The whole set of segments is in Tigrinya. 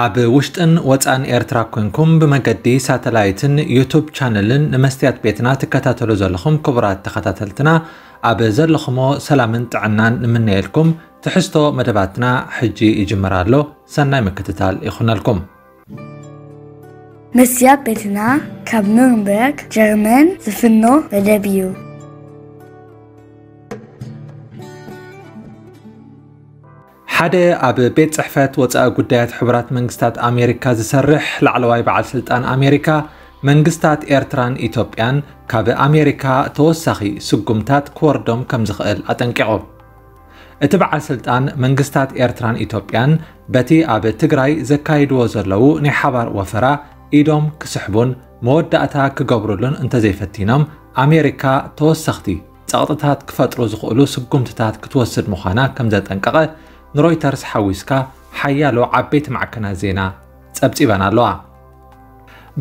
ኣብ ውሽጥን ወጻእን ኤርትራ ኮንኩም ብመገዲ ሳተላይትን ዩቱብ ቻነልን ንመስትያት ቤትና ትከታተሉ ዘለኹም ክቡራት ተኸታተልትና፣ ኣብ ዘለኹሞ ሰላምን ጥዕናን ንምነየልኩም። ትሕዝቶ መደባትና ሕጂ ይጅምር ኣሎ። ሰናይ ምክትታል ይኹነልኩም። መስትያት ቤትና ካብ ኑርንበርግ ጀርመን ዝፍኖ መደብ እዩ። ሓደ ኣብ ቤት ጽሕፈት ወጻኢ ጉዳያት ሕቡራት መንግስታት ኣሜሪካ ዝሰርሕ ላዕለዋይ በዓል ስልጣን ኣሜሪካ፣ መንግስታት ኤርትራን ኢትዮጵያን ካብ ኣሜሪካ ተወሳኺ ስጉምታት ክወርዶም ከም ዝኽእል ኣጠንቂቑ። እቲ በዓል ስልጣን መንግስታት ኤርትራን ኢትዮጵያን በቲ ኣብ ትግራይ ዘካይድዎ ዘለዉ ናይ ሓባር ወፈራ ኢዶም ክስሕቡን መወዳእታ ክገብሩሉን እንተዘይፈቲኖም ኣሜሪካ ተወሰኽቲ ጸቕጥታት ክፈጥሩ ዝኽእሉ ስጉምትታት ክትወስድ ምዃና ከም ዘጠንቀቐ ንሮይተርስ ሓዊስካ ሓያሎ ዓበይቲ ማዕከናት ዜና ጸብጺበን ኣለዋ።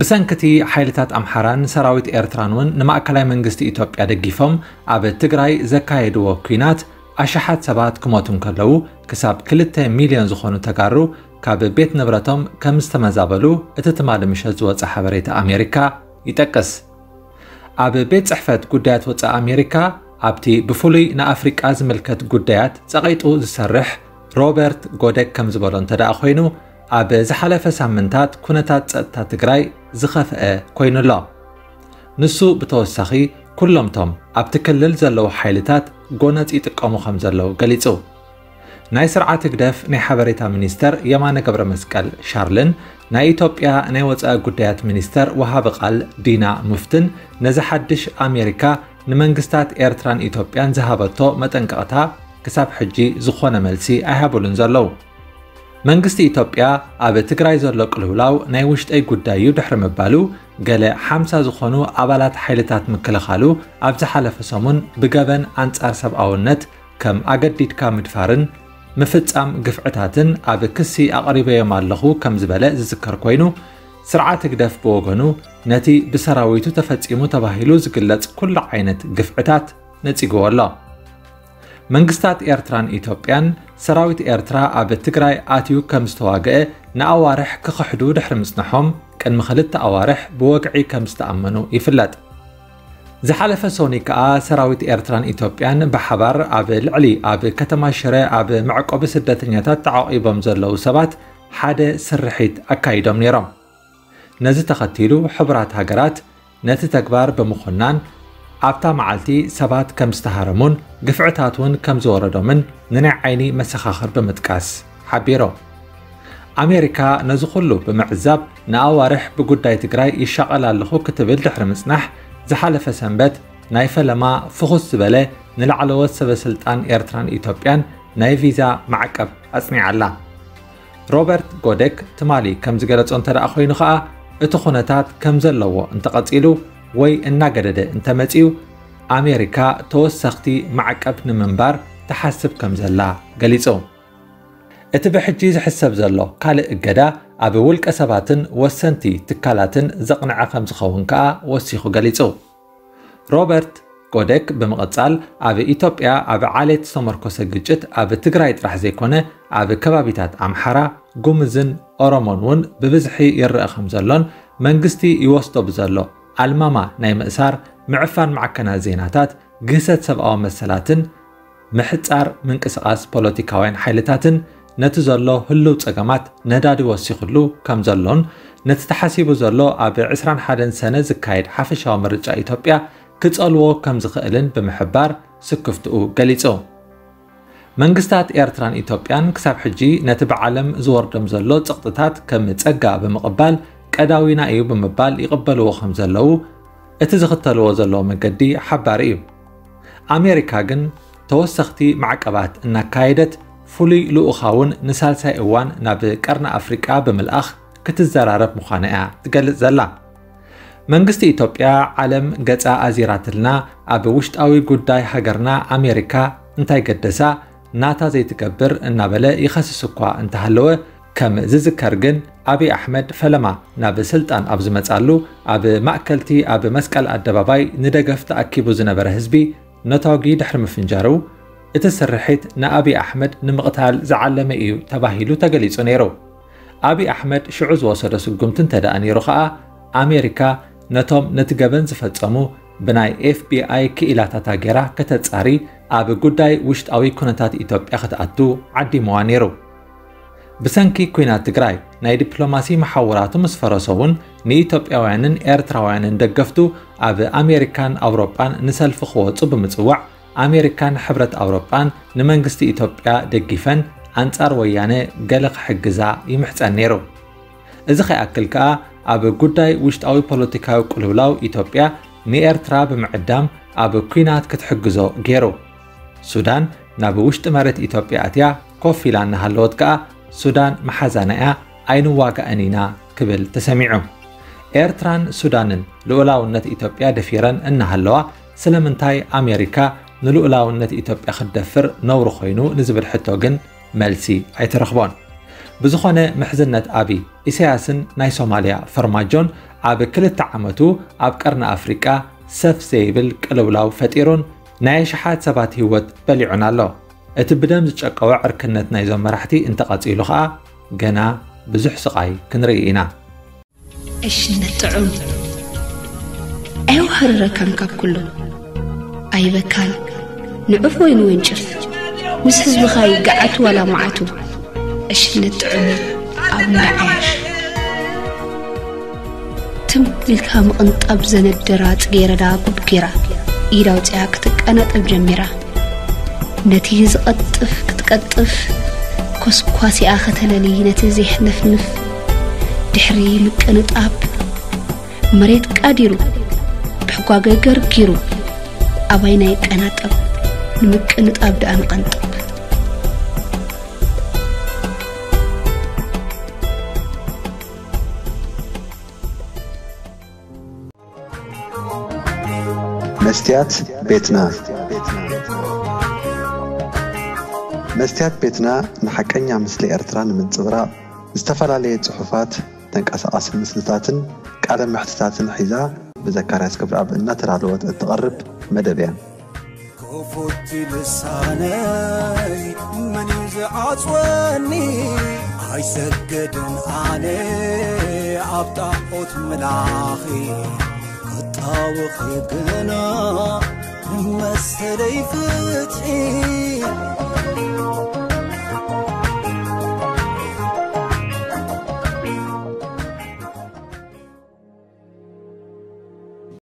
ብሰንክቲ ሓይልታት ኣምሓራን ሰራዊት ኤርትራን እውን ንማእከላይ መንግስቲ ኢትዮጵያ ደጊፎም ኣብ ትግራይ ዘካየድዎ ኲናት ኣሽሓት ሰባት ክሞቱ እንከለዉ ክሳብ ክልተ ሚልዮን ዝኾኑ ተጋሩ ካብ ቤት ንብረቶም ከም ዝተመዛበሉ እቲ ትማሊ ምሸት ዝወጸ ሓበሬታ ኣሜሪካ ይጠቅስ። ኣብ ቤት ጽሕፈት ጉዳያት ወጻኢ ኣሜሪካ ኣብቲ ብፍሉይ ንኣፍሪቃ ዝምልከት ጉዳያት ጸቒጡ ዝሰርሕ ሮበርት ጎደክ ከም ዝበሎ እንተ ደኣ ኮይኑ፣ ኣብ ዝሓለፈ ሳምንታት ኩነታት ጸጥታ ትግራይ ዝኸፍአ ኮይኑ ኣሎ። ንሱ ብተወሳኺ ኩሎምቶም ኣብቲ ክልል ዘለዉ ሓይልታት ጎነጽ ይጥቀሙ ከም ዘለዉ ገሊጹ። ናይ ስርዓት ህግደፍ ናይ ሓበሬታ ሚኒስተር የማነ ገብረ መስቀል ሻርልን ናይ ኢትዮጵያ ናይ ወጻኢ ጉዳያት ሚኒስተር ወሃቢ ቃል ዲና ሙፍትን ነዚ ሓድሽ ኣሜሪካ ንመንግስታት ኤርትራን ኢትዮጵያን ዝሃበቶ መጠንቀቕታ ክሳብ ሕጂ ዝኾነ መልሲ ኣይሃቡሉን ዘለዉ። መንግስቲ ኢትዮጵያ ኣብ ትግራይ ዘሎ ቅልውላው ናይ ውሽጠይ ጉዳይ እዩ ድሕሪ ምባሉ፣ ገለ ሓምሳ ዝኾኑ ኣባላት ሓይልታት ምክልኻሉ ኣብ ዝሓለፈ ሰሙን ብገበን ኣንጻር ሰብኣውነት ከም ኣገዲድካ ምድፋርን ምፍጻም ግፍዕታትን ኣብ ክሲ ኣቕሪበዮም ኣለኹ ከም ዝበለ ዝዝከር ኮይኑ፣ ስርዓት ህግደፍ ብወገኑ ነቲ ብሰራዊቱ ተፈጺሙ ተባሂሉ ዝግለጽ ኩሉ ዓይነት ግፍዕታት ነጺግዎ ኣሎ። መንግስታት ኤርትራን ኢትዮጵያን ሰራዊት ኤርትራ ኣብ ትግራይ ኣትዩ ከም ዝተዋግአ ንኣዋርሕ ክኽሕዱ ድሕሪ ምጽንሖም ቅድሚ ክልተ ኣዋርሕ ብወግዒ ከም ዝተኣመኑ ይፍለጥ። ዝሓለፈ ሶኒ ከኣ ሰራዊት ኤርትራን ኢትዮጵያን ብሓባር ኣብ ልዕሊ ኣብ ከተማ ሽረ ኣብ መዕቆቢ ስደተኛታት ተዓቒቦም ዘለዉ ሰባት ሓደ ስርሒት ኣካይዶም ነይሮም። ነዚ ተኸቲሉ ሕቡራት ሃገራት ነቲ ተግባር ብምኹናን ኣብታ መዓልቲ ሰባት ከም ዝተሃረሙን ግፍዕታት እውን ከም ዝወረዶምን ንናይ ዓይኒ መሰኻኽር ብምጥቃስ ሓቢሩ። ኣሜሪካ ነዚ ኩሉ ብምዕዛብ ንኣዋርሕ ብጉዳይ ትግራይ ይሻቐል ኣለኹ ክትብል ድሕሪ ምጽናሕ ዝሓለፈ ሰንበት ናይ ፈለማ ፍኹስ ዝበለ ንላዕለዎት ሰበ ስልጣን ኤርትራን ኢትዮጵያን ናይ ቪዛ ማዕቀብ ኣጽኒዓላ። ሮበርት ጎደክ ትማሊ ከም ዝገለጾ እንተ ደኣ ኮይኑ ኸኣ እቲ ኩነታት ከም ዘለዎ እንተቐጺሉ ወይ እናገደደ እንተመጺኡ ኣሜሪካ ተወሰኽቲ ማዕቀብ ንምንባር ትሓስብ ከም ዘላ ገሊጹ። እቲ ብሕጂ ዝሕሰብ ዘሎ ካልእ እገዳ ኣብ ውልቀ ሰባትን ወሰንቲ ትካላትን ዘቕንዐ ከም ዝኸውን ከኣ ወሲኹ ገሊጹ። ሮበርት ጎደክ ብምቕጻል ኣብ ኢትዮጵያ ኣብ ዓሌት ዝተመርኮሰ ግጭት ኣብ ትግራይ ጥራሕ ዘይኮነ ኣብ ከባቢታት ኣምሓራ፣ ጉምዝን ኦሮሞን እውን ብብዝሒ ይረአ ከም ዘሎን መንግስቲ ይወስዶ ብዘሎ ኣልማማ ናይ ምእሳር፣ ምዕፋን ማዕከናት ዜናታት፣ ግህሰት ሰብኣዊ መሰላትን ምሕጻር ምንቅስቓስ ፖለቲካውያን ሓይልታትን ነቲ ዘሎ ህሉው ጸገማት ነዳዲ ወሲኹሉ ከም ዘሎን ነቲ ተሓሲቡ ዘሎ ኣብ ዕስራን ሓደን ሰነ ዝካየድ ሓፈሻዊ ምርጫ ኢትዮጵያ ክጸልዎ ከም ዝኽእልን ብምሕባር ስክፍትኡ ገሊጹ። መንግስታት ኤርትራን ኢትዮጵያን ክሳብ ሕጂ ነቲ ብዓለም ዝወርዶም ዘሎ ጸቕጥታት ከም ጸጋ ብምቕባል ቀዳዊና እዩ ብምባል ይቕበልዎ ከም ዘለዉ እቲ ዝኽተልዎ ዘለዉ መገዲ ሓባሪ እዩ። ኣሜሪካ ግን ተወሰኽቲ ማዕቀባት እናካየደት ፍሉይ ልኡኻ እውን ንሳልሳይ እዋን ናብ ቀርኒ ኣፍሪቃ ብምልኣኽ ክትዘራረብ ምዃና እያ ትገልጽ ዘላ። መንግስቲ ኢትዮጵያ ዓለም ገጻ ኣዚራትልና ኣብ ውሽጣዊ ጉዳይ ሃገርና ኣሜሪካ እንታይ ገደሳ ናታ ዘይትገብር እናበለ ይኸስስ እኳ እንተሃለወ ከም ዝዝከር ግን ኣብይ ኣሕመድ ፈለማ ናብ ስልጣን ኣብ ዝመጻሉ ኣብ ማእከልቲ ኣብ መስቀል ኣደባባይ ንደገፍ ተኣኪቡ ዝነበረ ህዝቢ ነታጒ ድሕሪ ምፍንጃሩ፣ እቲ ስርሒት ንኣብይ ኣሕመድ ንምቕታል ዝዓለመ እዩ ተባሂሉ ተገሊጹ ነይሩ። ኣብይ ኣሕመድ ሽዑ ዝወሰዶ ስጉምቲ እንተ ደኣ ነይሩ ኸኣ፣ ኣሜሪካ ነቶም ነቲ ገበን ዝፈጸሙ ብናይ ኤፍ ቢ ኣይ ክኢላታታ ጌራ ከተጻሪ ኣብ ጉዳይ ውሽጣዊ ኩነታት ኢትዮጵያ ክትኣቱ ዓዲምዋ ነይሩ። ብሰንኪ ኲናት ትግራይ ናይ ዲፕሎማሲ መሓውራቱ ምስ ፈረሶ እውን ንኢትዮጵያውያንን ኤርትራውያንን ደገፍቱ ኣብ ኣሜሪካን ኣውሮጳን ንሰልፊ ክወጹ ብምጽዋዕ ኣሜሪካን ሕብረት ኣውሮጳን ንመንግስቲ ኢትዮጵያ ደጊፈን ኣንጻር ወያነ ገለ ክሕግዛ ይምሕጸን ነይሩ። እዚ ከይኣክል ከኣ ኣብ ጉዳይ ውሽጣዊ ፖለቲካዊ ቅልውላው ኢትዮጵያ ንኤርትራ ብምዕዳም ኣብ ኲናት ክትሕግዞ ገይሩ። ሱዳን ናብ ውሽጢ መሬት ኢትዮጵያ ኣትያ ኮፍ ኢላ እናሃለወት ከኣ ሱዳን መሓዛና እያ ኣይንዋጋእን ኢና ክብል ተሰሚዑ። ኤርትራን ሱዳንን ልኡላውነት ኢትዮጵያ ደፊረን እናሃለዋ ስለምንታይ ኣሜሪካ ንልኡላውነት ኢትዮጵያ ክትደፍር ነውሪ ኮይኑ ንዝብል ሕቶ ግን መልሲ ኣይተረኽቦን። ብዝኾነ ምሕዝነት ኣብይ፣ ኢሳያስን ናይ ሶማልያ ፈርማጆን ኣብ ክልተ ዓመቱ ኣብ ቀርኒ ኣፍሪቃ ሰፍ ዘይብል ቅልውላው ፈጢሩን ናይ ኣሽሓት ሰባት ህይወት በሊዑን ኣሎ። እቲ ብደም ዝጨቀወ ዕርክነት ናይዞም መራሕቲ እንተቐጺሉ ኸኣ ገና ብዙሕ ስቓይ ክንርኢ ኢና። ዕሽነት ጥዑም ኣየውሃርረካን ካብ ኩሉ ኣይበካን ንዑፍ ወይ ንወንጭፍ ምስ ህዝብኻ ይገዓት ዋላ መዓቱ ዕሽነት ጥዑም ኣብ ምርዓያሽ ትም ኢልካ ምቕንጣብ ዘነደራ ጽጌረዳ ጉድ ጌራ ኢድ ኣውጺኣ ክትቀናጠብ ጀሚራ ነቲ ዝቐጥፍ ክትቀጥፍ ኮስኳሲኣ ከተለሊ ነቲ ዜሕነፍንፍ ድሕሪ ምቅንጣብ መሬት ቃዲሩ ብሕጓገ ገርጊሩ ኣባይና ይቀናጠብ ንምቅንጣብ ደኣ ንቐንጥብ። መስትያት ቤትና መስትያት ቤትና ንሓቀኛ ምስሊ ኤርትራ ንምንጽብራቕ ዝተፈላለየ ጽሑፋት፣ ተንቀሳቓሲ ምስልታትን ቃለ መሕትታትን ሒዛ ብዘካርያስ ገብረኣብ እናተዳለወት እትቐርብ መደብ እያ። ክፉት ልሳነይ መን እዩ ዝዓጽወኒ? ኣይሰግድን ኣነ ኣብ ጣዖት ምላኺ ክጣወኺ ግና መሰለይ ፍትሒ